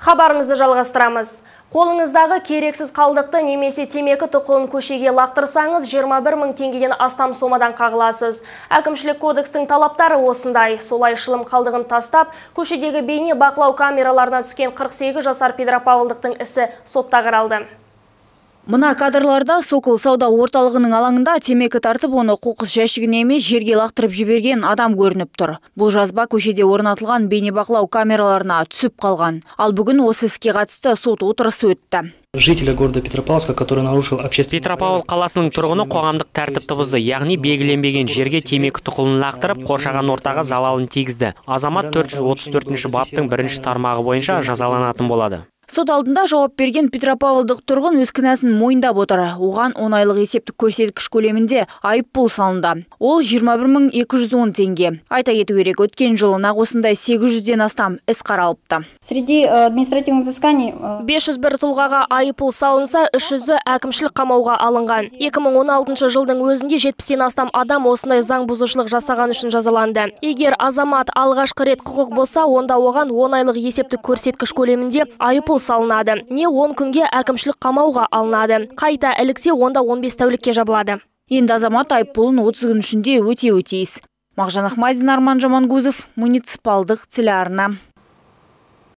Хабарымызды жалғастырамыз. Қолыңыздағы керексіз қалдықты немесе темекі тұқылын көшеге лақтырсаңыз 21 мың теңгеден астам сомадан қағыласыз. Әкімшілік кодекстің талаптары осындай. Солай шылым қалдығын тастап, көшедегі бейне бақылау камераларына түскен 48 жасар Петропавлдықтың ісі сотта қаралды. Мына кадрларда Сокол сауда орталығының алаңында темекі тартып, оны қоқыс жәшігіне емес жерге лақтырып жіберген адам көрініп тұр. Бұл жазба көшеде орнатылған бейнебақылау камераларына түсіп қалған. Ал бүгін осы іске қатысты сот отырысы өтті. Жителя города Петропавловска, который нарушил общественный... Петропавл қаласының тұрғыны қоғамдық тәртіпті бұзды, яғни белгіленбеген жерге темекі тұқылын лақтырып, қоршаған ортаға залалын тигізді. Азамат 434-ші баптың 1-ші тармағы бойынша жазаланатын болады. Сот алдында жауап берген Петропавлдық тұрғын өз кінәсін мойындап отыр. Оған 10 айлық есептік көрсеткіш көлемінде айыппұл салынды. Ол 21.210 теңге. Айта кету керек, өткен жылы нақ осындай 800-ден астам іс қаралыпты. Среди административных взысканий 501 тұлғаға айыппұл салынса, 300-і әкімшілік қамауға алынған. 2016 жылдың өзінде 70-ден астам адам осындай заң бұзушылық жасаған үшін жазаланды. Егер азамат алғашқы рет құқық болса, онда оған 10 айлық есептік көрсеткіш көлемінде айыппұл салынады. Не 10 күнге әкімшілік қамауға алынады. Қайта іліксе, онда 15 тәулікке жабылады. Енді азамат айыппұлын 30 күн ішінде өтеуі тиіс. Мағжан Ахмадин, Арман Жамангузов, муниципалдық телеарна.